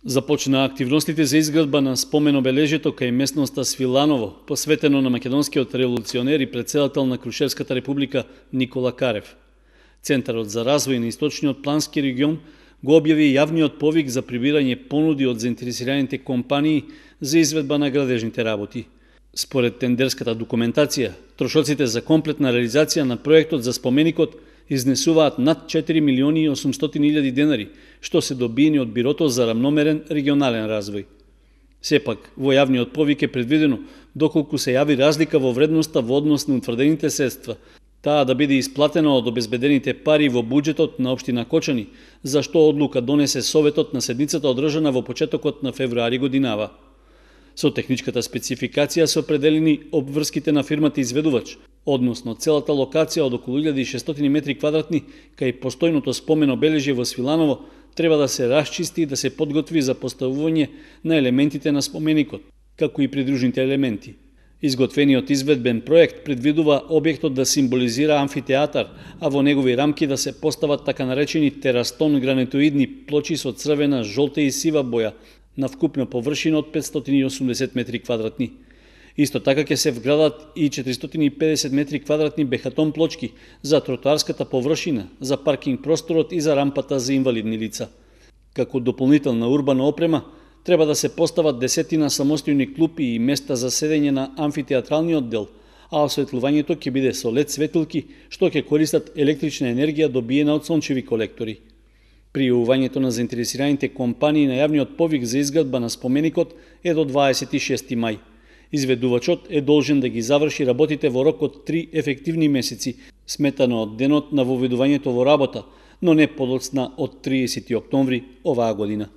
Започна активностите за изградба на спомен-обележјето кај местноста Свиланово, посветено на македонскиот револуционер и председател на Крушевската република Никола Карев. Центарот за развој на Источниот плански регион го објави јавниот повик за прибирање понуди од заинтересираните компании за изведба на градежните работи. Според тендерската документација, трошоците за комплетна реализација на проектот за споменикот изнесуваат над 4.800.000 денари, што се добиени од Бирото за рамномерен регионален развој. Сепак, во јавниот повик е предвидено, доколку се јави разлика во вредноста во однос на утврдените средства, таа да биде исплатена од обезбедените пари во буџетот на општина Кочани, за што одлука донесе Советот на седницата одржана во почетокот на февруари годинава. Со техничката спецификација се определени обврските на фирмата изведувач, односно целата локација од околу 1600 метри квадратни кај постојното спомен обележје во Свиланово треба да се расчисти и да се подготви за поставување на елементите на споменикот, како и придружните елементи. Изготвениот изведбен проект предвидува објектот да символизира амфитеатар, а во негови рамки да се постават така наречени терастон гранитоидни плочи со црвена, жолта и сива боја на вкупна површина од 580 метри квадратни. Исто така ќе се вградат и 450 метри квадратни бехатон плочки за тротоарската површина, за паркинг просторот и за рампата за инвалидни лица. Како дополнителна урбана опрема, треба да се постават 10 самостојни клупи и места за седење на амфитеатралниот дел, а осветлувањето ќе биде со LED светилки, што ќе користат електрична енергија добиена од сончеви колектори. Пријавувањето на заинтересираните компании на јавниот повик за изградба на споменикот е до 26 мај. Изведувачот е должен да ги заврши работите во рок од 3 ефективни месеци, сметано од денот на воведувањето во работа, но не подоцна од 30 октомври оваа година.